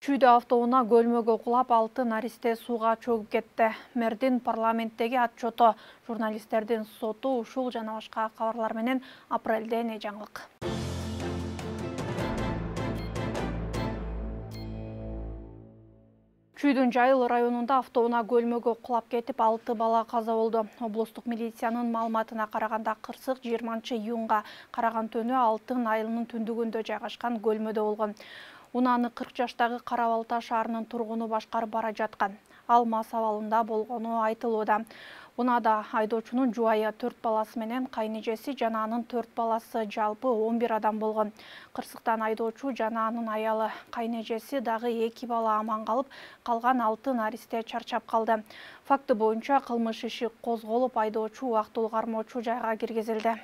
Чүйдө автоунаа көлмөгө кулап 6 наристе сууга чөгүп кетти. Мэрдин парламенттеги отчету, журналисттердин соту, ушул жана башка кабарлар менен апрелде не жаңылык. Чүйдүн Жайыл районунда автоунаа көлмөгө кулап кетип 6 бала каза болду. Облустук милициянын маалыматына караганда кырсык 20-июнга караган түнү Алтын айылынын түндүгүндө жайгашкан көлмөдө болгон. Унааны 40 жаштагы Карабалта шаарынын тургуну башкарып бара жаткан. Ал мас абалында болгону айтылууда. Унаада айдоочунун жубайы 4 баласы менен кайнэжеси жана анын 4 баласы, жалпы 11 адам болгон. Кырсыктан айдоочу жана анын аялы, кайнэжеси дагы 2 бала аман калып, калган 6 наристе чарчап калды. Факты боюнча кылмыш иши козголуп, айдоочу убактылуу кармоочу жайга киргизилди.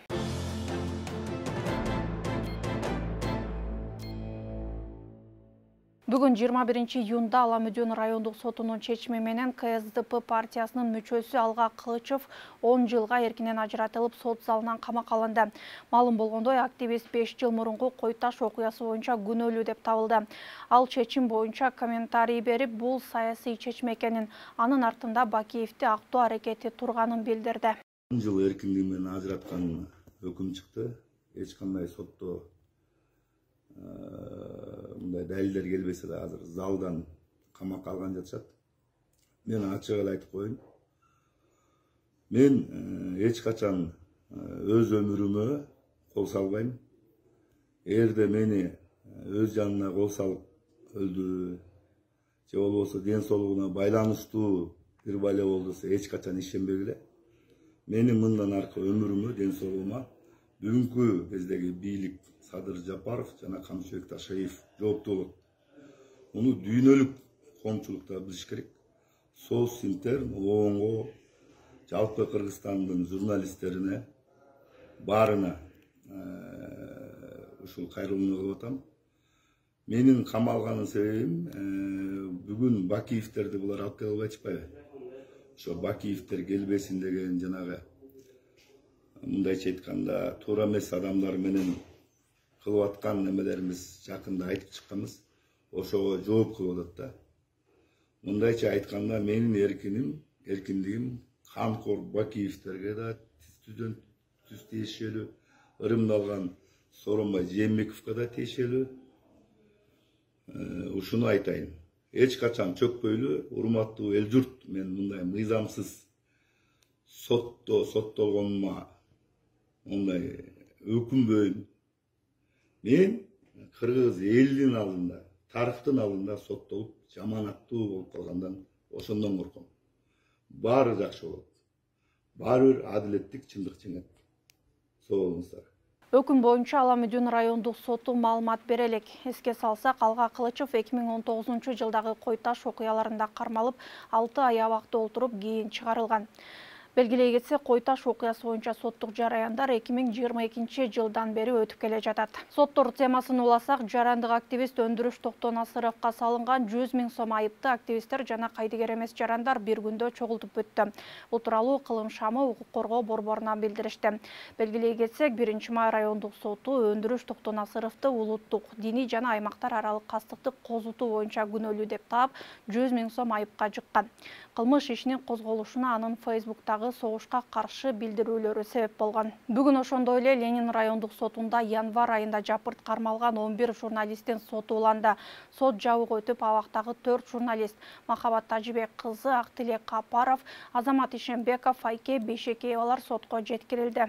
Бүгүн 21-июнда Аламүдөн райондук сотунун чечими менен КСДП партиясынын мүчөсү Алга Кылычев 10 жылга эркинен ажыратылып, сот залынан камакка алынды. Маалым болгондой, активист 5 жыл мурунку Кой Таш окуясы боюнча күнөөлүү деп табылды. Ал чечим боюнча комментарий берип, бул саясий чечим экенин, анын артында Бакиевди актоо аракети турганын билдирди. 10 жыл эркиндиги менен ажыраткан өкүм чыкты. Эч кандай сотто мындай далилдер келбесе да азыр залдан камакка алган жатышат. Мен ачык эле айтып коеюн. Мен эч качан өз өмүрүмө кол салбайм. Эгерде мени өз жанына кол салып өлдүрүү же болбосо ден соолугуна байланыштуу бир бала болду десе эч качан ишенбегиле. Менин мындан аркы өмүрүмө, ден соолугума бүгүнкү кездеги бийлик Садыр Жапаров жана Камчыбек Ташаев жооптуу болот. Муну дүйнөлүк коомчулукта билиш керек. Социнтерн, ООНго, жалпы Кыргызстандын журналисттерине, баарына ушул кайрылууну кылып атам. Менин камалганын себебим бүгүн Бакиевтерди булар алып кете албай чыкпайбы? Ошо Бакиевтер келбесин деген жанагы мындайча айтканда туура эмес адамдар менен кылып аткан немелерибиз жакында айтып чыкканбыз. Ошого жооп кылып атат да. Мындайча айтканда менин эркиндигим Канкор Бакиевтерге да түздөн түз тиешелүү, ырымдалган Сооронбай Жээнбековго да тиешелүү. Ушуну айтайын. Эч качан чөкпөйлү, урматтуу эл журт, мен мындай мыйзамсыз соттолгонума мындай өкүнбөйм. Мен кыргыз элинин алдында, тарыхтын алдында соттолуп, жаманаттуу болуп калгандан ошондон корком. Баары жакшы болот. Баары бир адилеттик, чындык жеңет. Соо болуңуздар. Өкүм боюнча Аламүдөн райондук соту маалымат бере элек. Эске салсак, Алга Кылычев 2019-жылдагы Кой Таш окуяларында кармалып, 6 ай абакта отуруп, кийин чыгарылган. Белгилей кетсек, Кой Таш окуясы боюнча соттук жараяндар 2022-жылдан бери өтүп келе жатат. Соттор темасын уласак, жарандык активист Өндүрүш Токтонасыровго салынган 100 000 сом айыпты активисттер жана кайдыгер эмес жарандар bir күндө чогултуп бүттү. Бул тууралуу Кылым шамы укук коргоо борборунан билдиришти. Белгилей кетсек, 1-май райондук соту Өндүрүш Токтонасыровду улуттук, диний жана аймактар аралык кастыкты козутуу боюнча күнөөлүү деп таап, 100 000 сом айыпка жыккан. Кылмыш ишинин козголушуна анын Фейсбуктагы согушка каршы билдирүүлөрү себеп болгон. Бүгүн ошондой эле Ленин райондук сотунда январь айында жапырт кармалган 11 журналисттин соту уланды. Сот жабык өтүп, абактагы 4 журналист Махабат Тажибек кызы, Актилек Капаров, Азамат Ишенбеков, Айке Бейшекеевалар сотко жеткирилди.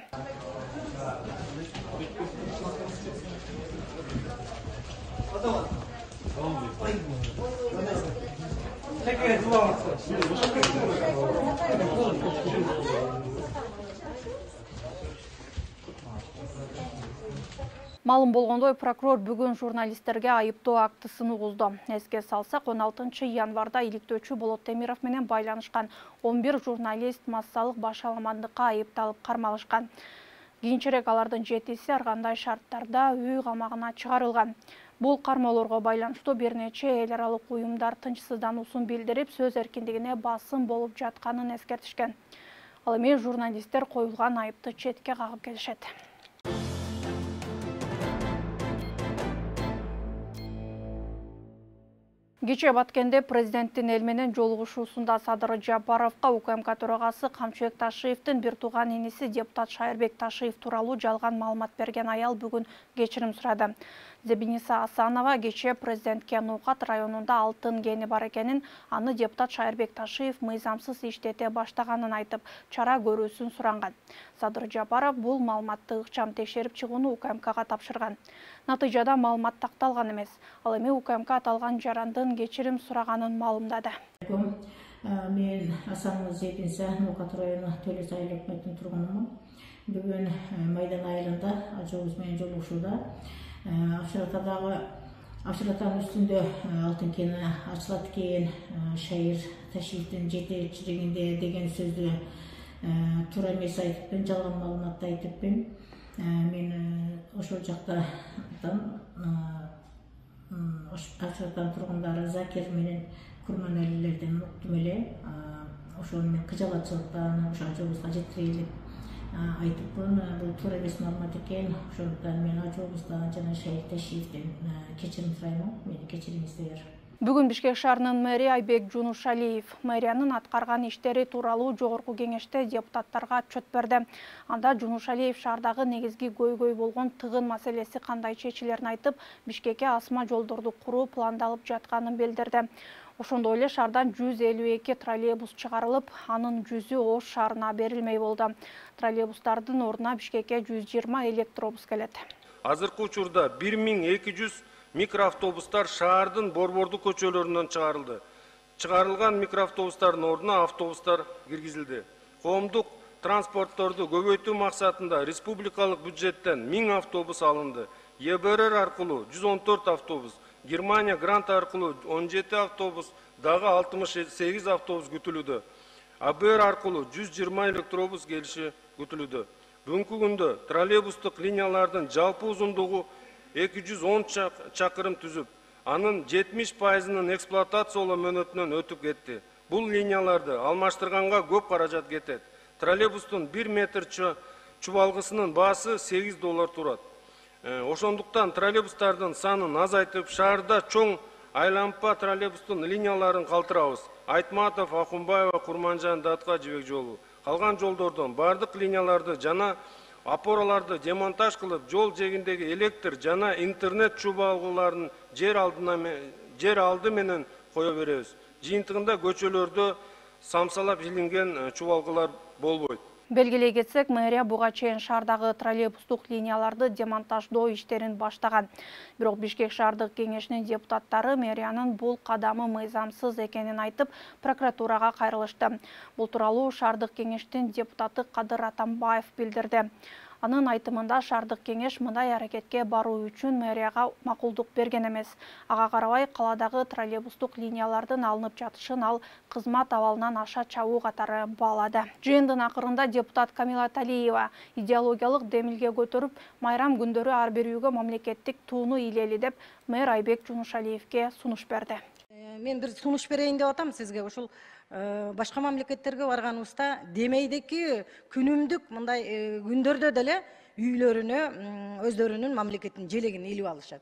Маалым болгондой, прокурор бүгүн журналисттерге айыптоо актысын угузду. Эске салсак, 16 январда иликтөөчү Болот Темиров менен байланышкан 11 журналист массалык башаламандыкка айыпталып кармалышкан. Кийинчерээк алардын 7-си ар кандай шарттарда үй камагына чыгарылган. Бул кармоолорго байланыштуу бир нече эл аралык уюмдар тынчсыздануусун билдирип, сөз эркиндигине басым болуп жатканын эскертишкен. Ал эми журналисттер коюлган айыпты четке кагып келишет. Кечээ Баткенде президенттин эл менен жолугушуусунда Садыр Жапаровго УКМК төрагасы Камчыбек Ташиевдин бир тууган иниси депутат Шайырбек Ташиев тууралуу жалган маалымат берген аял бүгүн кечирим сурады. Зебиниса Асанова кечээ президентке Нукат районунда алтын кени бар экенин, аны депутат Шайырбек Ташиев мыйзамсыз иштете баштаганын айтып, чара көрүүсүн суранган. Садыр Жапаров бул маалыматты ыкчам текшерип чыгууну УКМКга тапшырган. Натыйжада маалымат такталган эмес. Ал эми УКМК аталган жарандын кечирим сураганын маалымдады. Мен Асанова Зебиниса Нукат району Төлөс айыл өкмөтүнүн тургунумун. Бүгүн Майдан айылында ажыбыз менен жолугушууда Авшыратанын үстүндө алтын кени ачылат экен, Шайыр Ташиевдин жетекчилигинде деген сөздү туура эмес айтыппын, жалган маалыматты айтыппын. Мен ошол жактан Авшыратанын тургундары Закир менен Курманалилерден уктум эле. Ошону мен кыжалатчылыктан ошо ажыбызга жеткирели айтыппын. Бул туура эмес маалымат экен. Ошондуктан мен ажыбыздан жана Шайыр Ташиевден кечирим сурайм. Мени кечириңиздер. Бүгүн Бишкек шаарынын мэри Айбек Жунушалиев мэриянын аткарган иштери тууралуу жогорку кеңеште депутаттарга отчет берди. Анда Жунушалиев шаардагы негизги көйгөй болгон тыгын маселеси кандай чечилерин айтып, Бишкекке асма жолдорду куруу пландалып жатканын билдирди. Ошондой эле шаардан 152 троллейбус чыгарылып, анын 100-ü Ош шаарына берилмей болду. Троллейбустардын ордуна Бишкекке 120 электробус келет. Азыркы учурда 1200 микроавтобустар шаардын борбордук көчөлөрүнөн чыгарылды. Чыгарылган микроавтобустардын ордуна автобустар киргизилди. Коомдук транспортторду көбөйтүү максатында республикалык бюджеттен 1000 автобус алынды. ЕБРР аркылуу 114 автобус, Германия грант аркылуу 17 автобус, дагы 68 автобус күтүлүүдө. АБР аркылуу 120 электробус келиши күтүлүүдө. Бүгүнкү күндө троллейбустук линиялардын жалпы узундугу 210 чакырым түзүп, анын 70%-нын эксплуатациялоо мөөнөтүнөн өтүп кетти. Бул линияларды алмаштырганга көп каражат кетет. Троллейбустун 1 метр чубалгысынын баасы $8 турат. Ошондуктан троллейбустардын санын азайтып, шаарда чоң айланпа троллейбустун линияларын калтырабыз. Айтматов, Акунбаева, Курманжан, Датка жибек жолу. Калган жолдордон бардык линияларды жана опораларды демонтаж кылып, жол жегиндеги электр жана интернет чубалгыларын жер алды менен кое беребиз. Жыйынтыгында көчөлөрдө самсалап илинген чубалгылар болбойт. Белгилей кетсек, мэрия буга чейин шаардагы троллейбустук линияларды демонтаждоо иштерин баштаган. Бирок Бишкек шаардык кеңешинин депутаттары мэриянын бул кадамы мыйзамсыз экенин айтып, прокуратурага кайрылышты. Бул тууралуу шаардык кеңештин депутаты Кадыр Атамбаев билдирди. Анын айтымында шаардык кеңеш мындай аракетке баруу үчүн мэрияга макулдук берген эмес. Ага карабай каладагы троллейбустук линиялардын алынып жатышын ал кызмат абалынан аша чабуу катары баалады. Жыйындын акырында депутат Камила Талиева идеологиялык демилге көтөрүп, майрам күндөрү ар бир үйгө мамлекеттик тууну илели деп мэр Айбек Жунушалиевке сунуш берди. Мен бир сунуш берейин деп атам сизге. Ушул башка мамлекеттерге барганыбызда демейдеки күнүмдүк мындай күндөрдө деле үйлөрүнө өздөрүнүн мамлекетинин желегин илип алышат.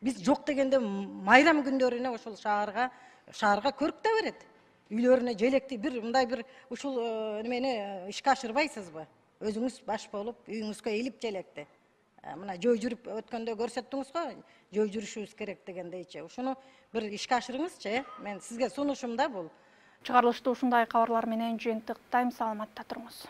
Биз жок дегенде майрам күндөрүнө ушул шаарга көрк да берет. Үйлөрүнө желекти мындай бир ушул немени ишке ашырбайсызбы? Өзүңүз баш болуп, үйүңүзгө илип желекти. Мына жөө жүрүп өткөндө көрсөттүңүз го, жөө жүрүшүбүз керек дегендейчи. Ушуну бир ишке ашырыңызчы. Мен сизге сунушум да бул. Чыгарылышты ушундай кабарлар менен жыйынтыктайм. Саламатта туруңуз.